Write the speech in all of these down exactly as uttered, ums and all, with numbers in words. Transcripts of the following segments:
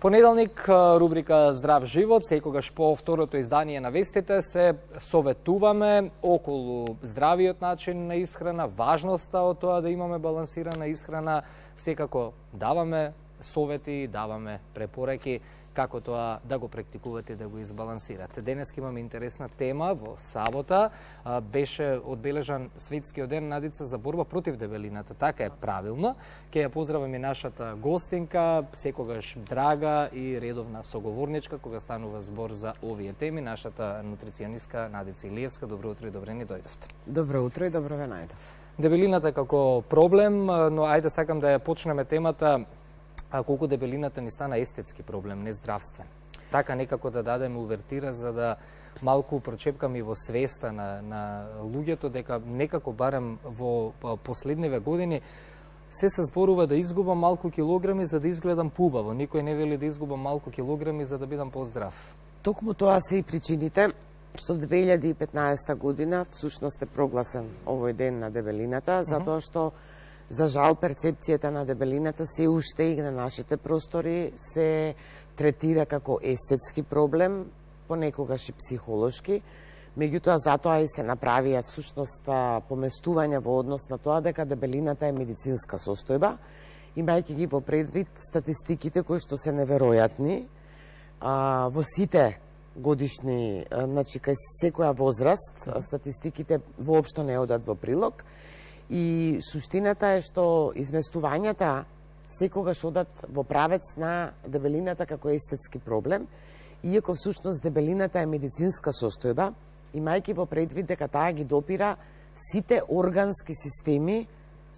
Понеделник, рубрика Здрав живот, секогаш по второто издание на вестите се советуваме околу здравиот начин на исхрана, важноста од тоа да имаме балансирана исхрана, секако даваме совети, даваме препораки како тоа да го практикувате, да го избалансирате. Денес имаме интересна тема во сабота. Беше одбележан светскиот ден, Надица, за борба против дебелината. Така е правилно. Ке ја поздравам и нашата гостинка, секогаш драга и редовна соговорничка кога станува збор за овие теми, нашата нутриционистка Надица Илиевска. Добро утро и добре ни дојдовте. Добро утро и добро ве најдов. Дебелината како проблем, но ајде сакам да ја почнеме темата. А колку дебелината ни стана естетски проблем, не здравствен. Така некако да дадеме увертира за да малку прочепкаме и во свеста на, на луѓето дека некако барем во последниве години се се зборува да изгубам малку килограми за да изгледам поубаво. Никој не вели да изгубам малку килограми за да бидам поздрав. Токму тоа се и причините што две илјади и петнаесета година всушност е прогласен овој ден на дебелината, затоа што за жал, перцепцијата на дебелината се уште и на нашите простори се третира како естетски проблем, понекогаш и психолошки. Меѓутоа, затоа и се направија всушност поместување во однос на тоа дека дебелината е медицинска состојба, имајќи ги во предвид статистиките кои што се неверојатни а, во сите годишни, значи кај секоја возраст, статистиките воопшто не одат во прилог. И суштината е што изместувањата секогаш одат во правец на дебелината како естетски проблем, иако всушност дебелината е медицинска состојба, имајќи во предвид дека таа ги допира сите органски системи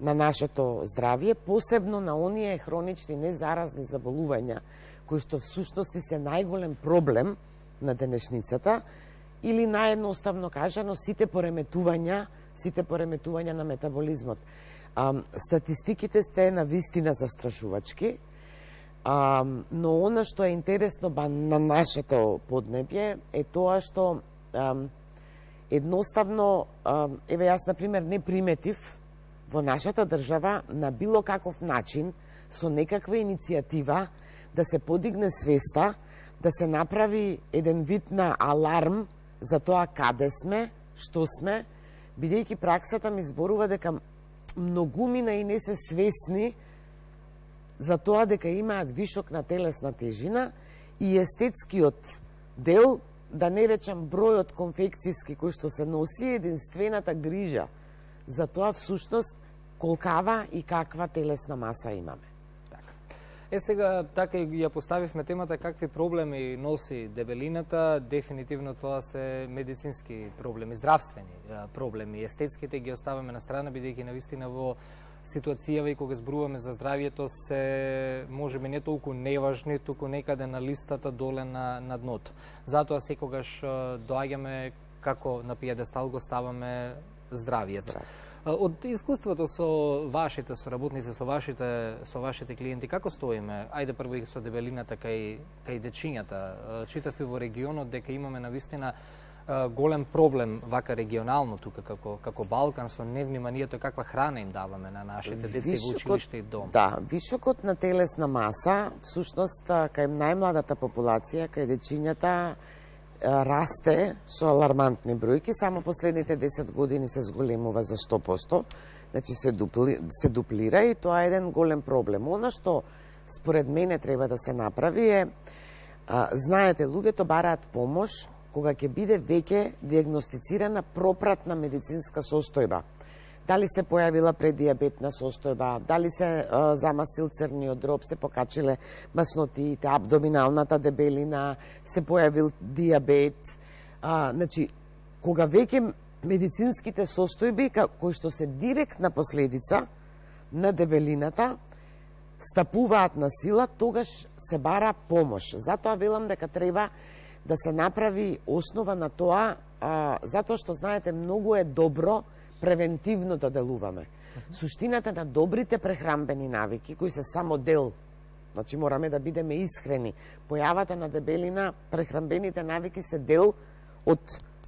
на нашето здравје, посебно на оние хронични незаразни заболувања, кои што всушност се најголем проблем на денешницата, или наједноставно кажано сите пореметувања сите пореметувања на метаболизмот. А, статистиките сте на вистина застрашувачки, а, но она што е интересно ба на нашето поднебје е тоа што а, едноставно, а, еве јас на пример не приметив во нашата држава на било каков начин со некаква иницијатива да се подигне свеста, да се направи еден вид на аларм за тоа каде сме, што сме, бидејќи праксата ми зборува дека многумина и не се свесни за тоа дека имаат вишок на телесна тежина и естетскиот дел, да не речам бројот конфекцијски кој што се носи, единствената грижа за тоа всушност колкава и каква телесна маса имаме. Е, сега, така и ја поставивме темата какви проблеми носи дебелината. Дефинитивно тоа се медицински проблеми, здравствени проблеми. Естетските ги оставаме на страна, бидејќи навистина во ситуацијава и кога зборуваме за здравието се можеби не толку неважни, туку некаде на листата доле на, на дното. Затоа секогаш доаѓаме како на пиедестал го ставаме здравието. Здрави. Од искуството со вашите соработници, со вашите со вашите клиенти, како стоиме? Ајде прво и со дебелината кај кај дечињата. Читав и во регионот дека имаме навистина голем проблем вака регионално тука како како Балкан со невниманието каква храна им даваме на нашите деца во училиште и дом. Да, вишокот на телесна маса всушност кај најмладата популација, кај дечињата расте со алармантни бројки, само последните десет години се зголемува за сто проценти, значи се, дупли, се дуплира и тоа е еден голем проблем. Она што според мене треба да се направи е, а, знаете, луѓето бараат помош кога ќе биде веќе диагностицирана пропратна медицинска состојба. Дали се појавила преддиабетна состојба, дали се а, замастил црниот дроб, се покачиле маснотиите, абдоминалната дебелина, се појавил диабет. А, значи, кога веќе медицинските состојби, кои што се директна последица на дебелината, стапуваат на сила, тогаш се бара помош. Затоа велам дека треба да се направи основа на тоа, а, затоа што, знаете, многу е добро превентивно да делуваме. Суштината на добрите прехранбени навики, кои се само дел, значи мораме да бидеме искрени, појавата на дебелина, прехранбените навики се дел од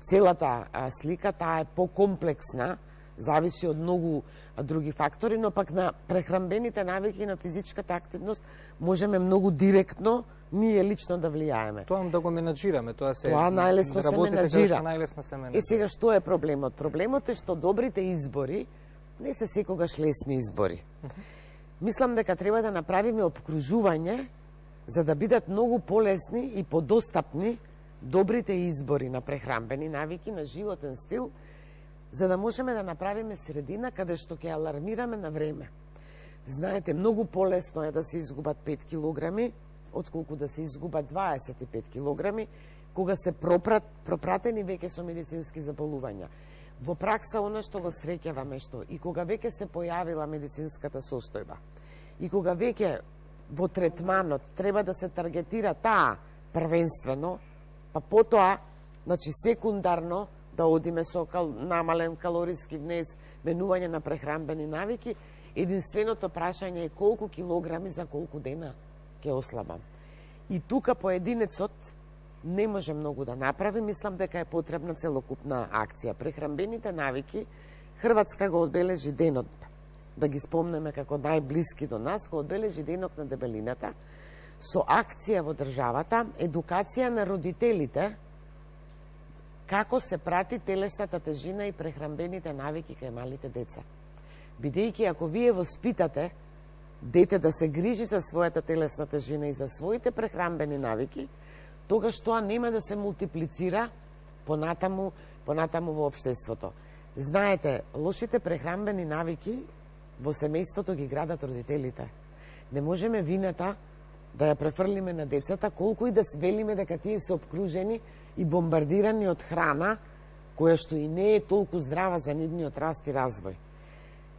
целата а, слика, таа е покомплексна, зависи од многу други фактори, но пак на прехранбените навики и на физичката активност можеме многу директно ние лично да влијаеме. Тоа да го менаџираме, тоа се Тоа најлесно се менаџира. Најлесно се менаџира. Е сега што е проблемот? Проблемот е што добрите избори не се секогаш лесни избори. Uh -huh. Мислам дека треба да направиме обкружување за да бидат многу полесни и подостапни добрите избори на прехранбени навики, на животен стил, за да можеме да направиме средина каде што ќе алармираме на време. Знаете, многу полесно е да се изгубат пет килограми, отколку да се изгубат дваесет и пет килограми, кога се пропрат, пропратени веќе со медицински заболувања. Во пракса, она што го среќаваме што, и кога веќе се појавила медицинската состојба, и кога веќе во третманот треба да се таргетира таа првенствено, па потоа, значи секундарно, да одиме со кал, намален калориски внес, менување на прехранбени навики, единственото прашање е колку килограми за колку дена ќе ослабам. И тука поединецот не може многу да направи, мислам дека е потребна целокупна акција. Прехранбените навики, Хрватска го одбележи денот, да ги спомнеме како најблиски до нас, го одбележи денот на дебелината, со акција во државата, едукација на родителите, како се прати телесната тежина и прехранбените навики кај малите деца. Бидејќи ако вие воспитате дете да се грижи за својата телесна тежина и за своите прехранбени навики, тогаш тоа нема да се мултиплицира понатаму, понатаму во општеството. Знаете, лошите прехранбени навики во семејството ги градат родителите. Не можеме вината да ја префрлиме на децата, колку и да велиме дека тие се обкружени и бомбардирани од храна, која што и не е толку здрава за нивниот раст и развој.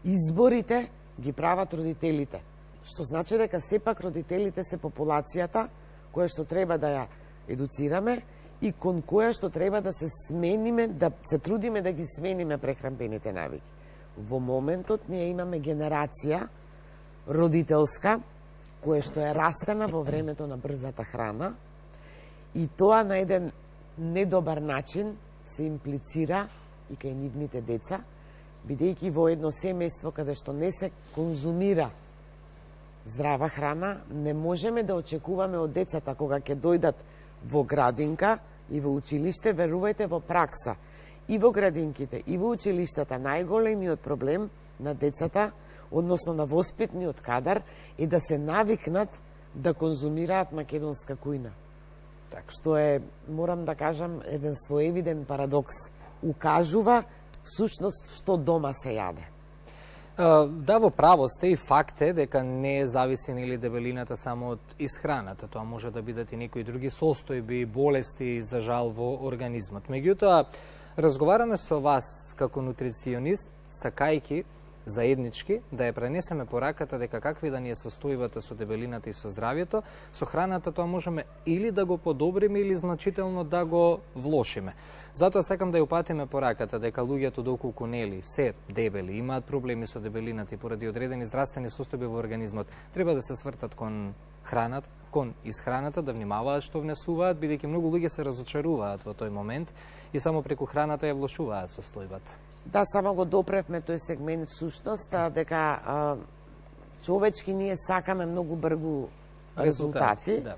Изборите ги прават родителите, што значи дека сепак родителите се популацијата која што треба да ја едуцираме и кон која што треба да се смениме, да се трудиме да ги смениме прехранбените навики. Во моментот ние имаме генерација родителска, која што е растена во времето на брзата храна и тоа на еден недобар начин се имплицира и кај нивните деца, бидејќи во едно семејство каде што не се конзумира здрава храна, не можеме да очекуваме од децата кога ќе дојдат во градинка и во училиште, верувајте во пракса. И во градинките, и во училиштата, најголемиот проблем на децата, односно на воспитниот кадар, е да се навикнат да конзумираат македонска кујна. Так. Што е, морам да кажам, еден своевиден парадокс. Укажува всушност што дома се јаде. Да, во право сте и факт е дека не зависи нели дебелината само од исхраната. Тоа може да бидат и некои други состојби, болести за жал во организмот. Меѓутоа, разговараме со вас како нутриционист, сакајки заеднички да ја пренесеме пораката дека какви да ни е состојбата со дебелината и со здравјето, со храната тоа можеме или да го подобриме или значително да го влошиме. Затоа сакам да ја упатиме пораката дека луѓето доколку нели се дебели, имаат проблеми со дебелината и поради одредени здравствени состојби во организмот, треба да се свртат кон храната, кон исхраната, да внимаваат што внесуваат, бидејќи многу луѓе се разочаруваат во тој момент и само преку храната ја влошуваат состојбата. Да, само го допревме тој сегмент всушност, дека а, човечки ние сакаме многу бргу резултати. резултати да.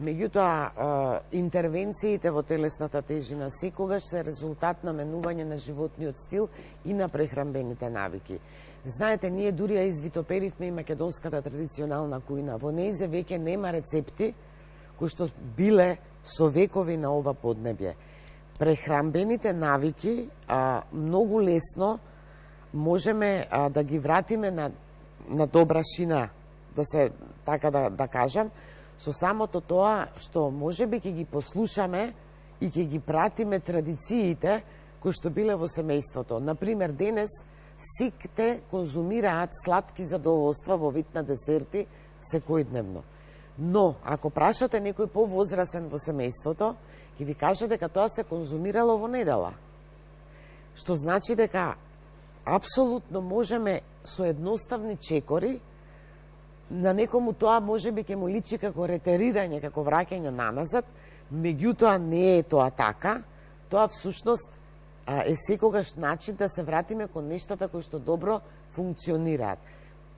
Меѓутоа, интервенциите во телесната тежина секогаш се резултат на менување на животниот стил и на прехранбените навики. Знаете, ние дури ја извитоперивме и македонската традиционална кујна. Во нејзе веќе нема рецепти кои што биле со векови на ова поднебје. Прехранбените навики а, многу лесно можеме а, да ги вратиме на, на добра шина, да се така да, да кажам, со самото тоа што можеби ќе ги послушаме и ќе ги пратиме традициите кои што биле во семејството. Например, денес сите конзумираат сладки задоволства во вид на десерти секојдневно. Но, ако прашате некој повозрасен во семејството, ќе ви каже дека тоа се конзумирало во недела. Што значи дека апсолутно можеме со едноставни чекори, на некому тоа можеби ќе му личи како ретерирање, како враќање наназад, меѓутоа не е тоа така, тоа всушност е секогаш начин да се вратиме кон нештата кои што добро функционираат.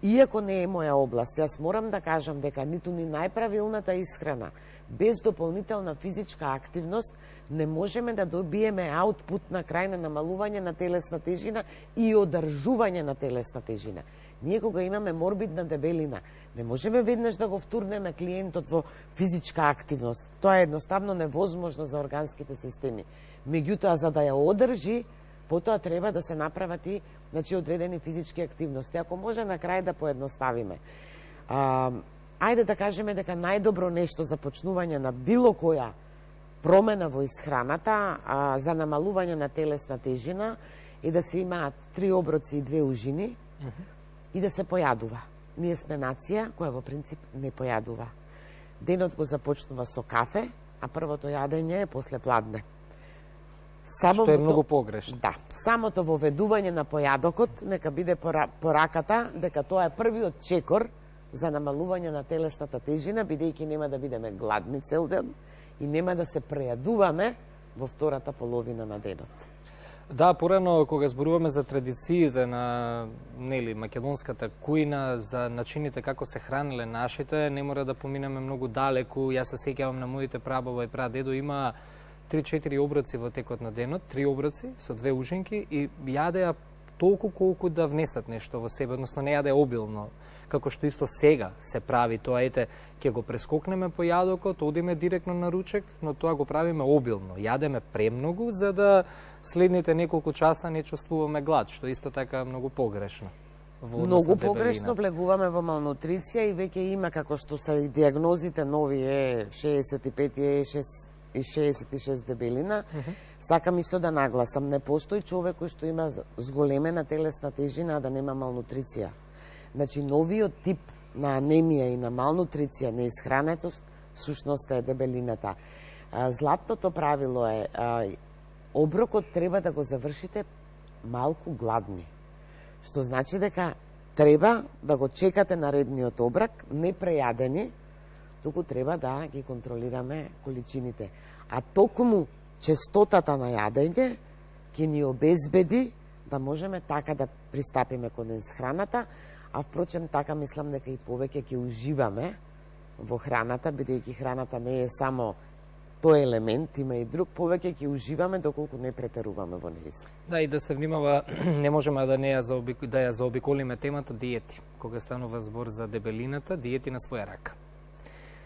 Иако не е моја област, јас морам да кажам дека ниту ни најправилната исхрана без дополнителна физичка активност не можеме да добиеме аутпут на крај на намалување на телесна тежина и одржување на телесна тежина. Ние кога имаме морбидна дебелина, не можеме веднаш да го втурнеме клиентот во физичка активност. Тоа е едноставно невозможно за органските системи. Меѓутоа, за да ја одржи, потоа треба да се направат и значи, одредени физички активности. Ако може на крај да поедноставиме. А, ајде да кажеме дека најдобро нешто за почнување на било која промена во исхраната а, за намалување на телесна тежина е да се имаат три оброци и две ужини mm -hmm. и да се појадува. Ние сме нација која во принцип не појадува. Денот го започнува со кафе, а првото јадење е после пладне. Само што е многу погрешно. Да, самото воведување на појадокот нека биде пораката дека тоа е првиот чекор за намалување на телесната тежина, бидејќи нема да бидеме гладни цел ден и нема да се прејадуваме во втората половина на денот. Да, порано кога зборуваме за традициите на нели македонската кујна, за начините како се хранеле нашите, не мора да поминеме многу далеку. Јас се сеќавам на моите прабаба и прадедо, има три-четири оброци во текот на денот, три оброци со две ужинки и јадеа толку колку да внесат нешто во себе, односно не јадеа обилно, како што исто сега се прави тоа, ете, ќе го прескокнеме по јадокот, одиме директно на ручек, но тоа го правиме обилно. Јадеме премногу за да следните неколку часа не чувствуваме глад, што исто така многу погрешно. Многу погрешно влегуваме во малнутриција и веќе има, како што се и диагнозите нови е шеесет и пет е и шеесет и шест дебелина. Mm -hmm. Сакам исто да нагласам, не постои човек кој што има зголемена телесна тежина, а да нема малнутриција. Значи, новиот тип на анемија и на малнутриција, на исхранетост, сушност е дебелината. Златното правило е, оброкот треба да го завршите малку гладни. Што значи дека треба да го чекате наредниот оброк, не прејадени, туку треба да ги контролираме количините. А токму честотата на јадење ќе ни обезбеди да можеме така да пристапиме кон исхраната, а впрочем така мислам дека и повеќе ќе уживаме во храната, бидејќи храната не е само тој елемент, има и друг, повеќе ќе уживаме доколку не претеруваме во неја. Да, и да се внимава, не можеме да не ја заобик... да ја заобиколиме темата диети. Кога станува збор за дебелината, диети на своја рака.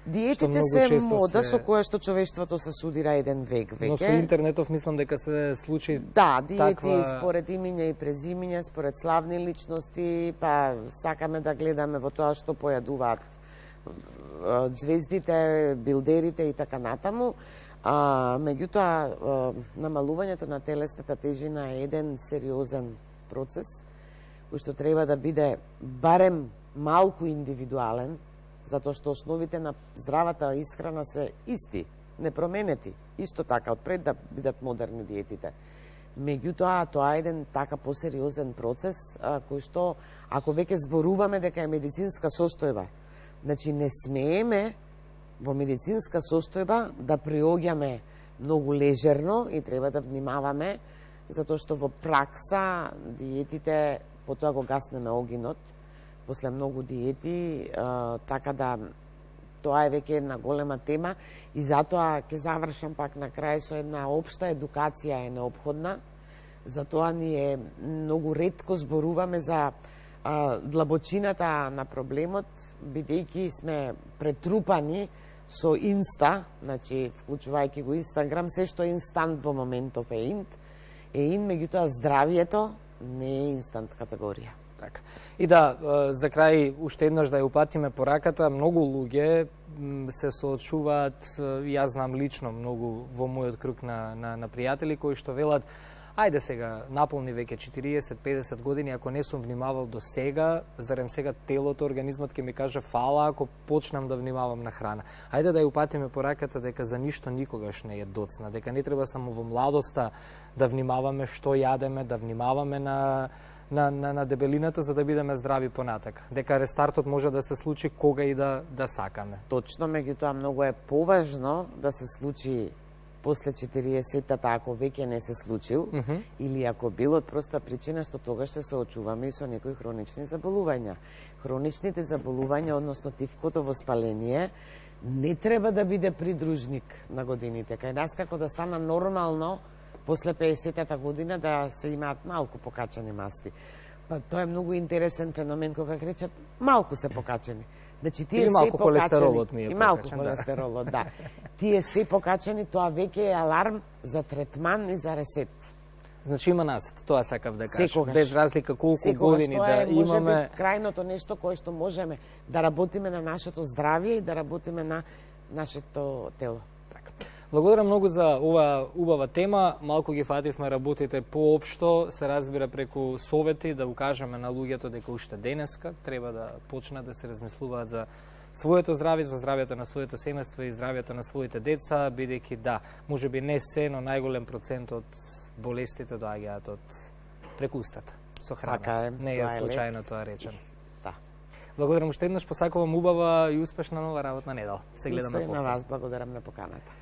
Диетите се мода се... со која што човештвото се судира еден век веќе. Но со интернетов мислам дека се случи да, диети таква... според имиња и презимиња, според славни личности, па сакаме да гледаме во тоа што појадуваат звездите, билдерите и така натаму. А, меѓутоа, намалувањето на телесната тежина е еден сериозен процес, кој што треба да биде барем малку индивидуален, затоа што основите на здравата исхрана се исти, непроменети. Исто така, отпред да бидат модерни диетите. Меѓутоа, тоа е еден така посериозен процес, а, кој што, ако веќе зборуваме дека е медицинска состојба, значи не смееме во медицинска состојба да приоѓаме многу лежерно и треба да внимаваме, затоа што во пракса диетите, потоа го гаснеме огинот, после многу диети, а, така да тоа е веќе една голема тема и затоа ќе завршам пак на крај со една општа едукација е неопходна. Затоа ние многу ретко зборуваме за а, длабочината на проблемот, бидејќи сме претрупани со инста, значи вклучувајќи го Инстаграм, се што е инстант во моментов е инт, е ин, меѓутоа здравието не е инстант категорија. Така. И да, за крај, уште еднаш да ја упатиме пораката, многу луѓе се соочуваат, јас знам лично многу во мојот круг на, на, на пријатели кои што велат, ајде сега, наполни веќе четириесет до педесет години, ако не сум внимавал до сега, зарем сега телото, организмот ќе ми каже фала ако почнам да внимавам на храна. Ајде да ја упатиме пораката дека за ништо никогаш не е доцна, дека не треба само во младоста да внимаваме што јадеме, да внимаваме на На, на, на дебелината за да бидеме здрави понатака. Дека рестартот може да се случи кога и да, да сакаме. Точно, меѓутоа многу е поважно да се случи после четириесеттата, ако веќе не се случил, mm -hmm. или ако бил, од проста причина што тогаш се соочуваме и со некои хронични заболувања. Хроничните заболувања, односно тивкото воспаление, не треба да биде придружник на годините. Кај нас како да стана нормално после пеесеттата година да се имаат малку покачени масти. Па тоа е многу интересен феномен кога речат малку се покачени. Значи тие Или малку се холестеролот ми е и малку покачен, холестеролот, да. Тие се покачени, тоа веќе е аларм за третман и за ресет. Значи има насет, тоа сакав да кажам. Секогаш. Без разлика колку Секогаш, години тоа да е, може имаме. би, крајното нешто кое што можеме да работиме на нашето здравје и да работиме на нашето тело. Благодарам многу за ова убава тема. Малку ги фативме работите поопшто, се разбира преку совети, да укажеме на луѓето дека уште денеска треба да почнат да се размислуваат за своето здравје, за здравјето на своето семејство и здравјето на своите деца, бидејќи да, можеби не се, но најголем процент од болестите доаѓаат од преку устата, со храната. Така е, не е случајно тоа речено. Да. Благодарам уште еднаш, посакувам убава и успешна нова работна недела. Се гледаме повторно. Исто и на повторно. вас, благодарам на поканата.